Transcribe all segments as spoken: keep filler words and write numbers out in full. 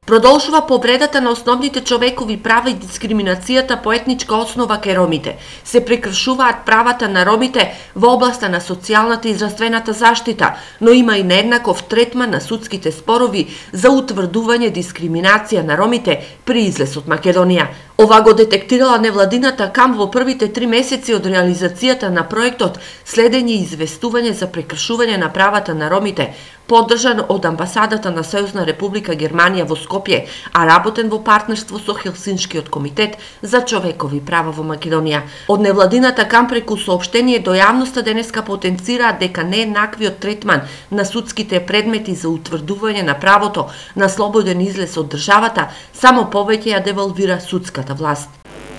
Продолжува повредата на основните човекови права и дискриминацијата по етничка основа кај ромите. Се прекршуваат правата на ромите во областа на социјалната и здравствената заштита, но има и нееднаков третман на судските спорови за утврдување дискриминација на ромите при излез од Македонија. Ова го детектирала невладината КАМ во првите три месеци од реализацијата на проектот Следење и известување за прекршување на правата на ромите, поддржан од амбасадата на Сојузна република Германија во Скопје, а работен во партнерство со Хелсиншкиот комитет за човекови права во Македонија. Од невладината КАМ преку соопштение до јавноста денеска потенцираат дека нееднаквиот третман на судските предмети за утврдување на правото на слободен излез од државата само повеќе ја девалвира судската власт.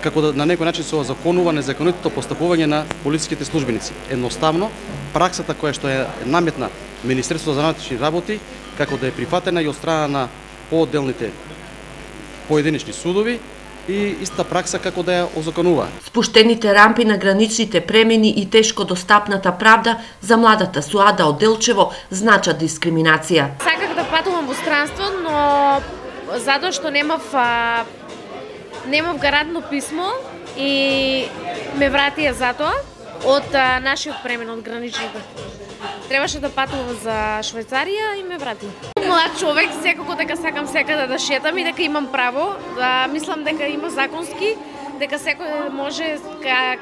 Како да на некој начин се озаконува незаконитото постапување на полициските службеници. Едноставно, праксата која што е наметна Министерството за внатрешни работи, како да е прифатена и од страна на поодделните поединечни судови, и иста пракса како да ја озаконува. Спуштените рампи на граничните премини и тешко достапната правда за младата Суада од Делчево значат дискриминација. Саках да патувам во странство, но затоа што немав а, немав гарантно писмо и ме вратија затоа од а, нашиот премин од граничните. Требаше да патувам за Швајцарија и ме врати. Млад човек, секако дека сакам секаде да шетам и дека имам право, да мислам дека има законски, дека секој може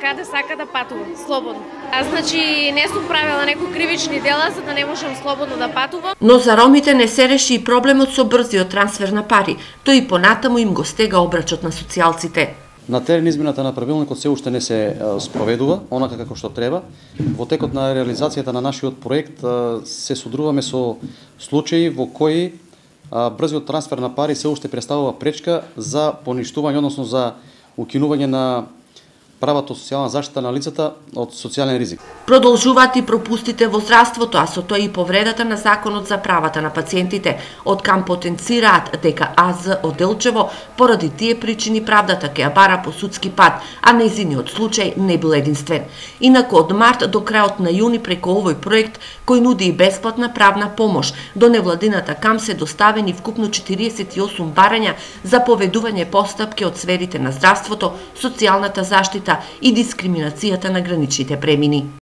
каде сака да патува, слободно. А значи не сум правила некои кривични дела за да не можам слободно да патувам. Но за ромите не се реши и проблемот со брзиот трансфер на пари, тој и понатаму им го стега обрачот на социјалците. На терен измената на правилникот се уште не се спроведува, онака како што треба. Во текот на реализацијата на нашиот проект се содруваме со случаи во кои брзиот трансфер на пари се уште представува пречка за поништување, односно за укинување на правото социјална заштита на лицата од социјален ризик. Продолжуваат и пропустите во здравството, а со тоа и повредата на законот за правата на пациентите. Од КАМ потенцираат дека АЗ од Делчево поради тие причини правдата ќе ја бара по судски пат, а нејзиниот случај не бил единствен. Инаку од март до крајот на јуни преку овој проект, кој нуди и бесплатна правна помош, до невладината КАМ се доставени вкупно четириесет и осум барања за поведување постапки од сферите на здравството, социјалната заштита и дискриминацијата на граничните премини.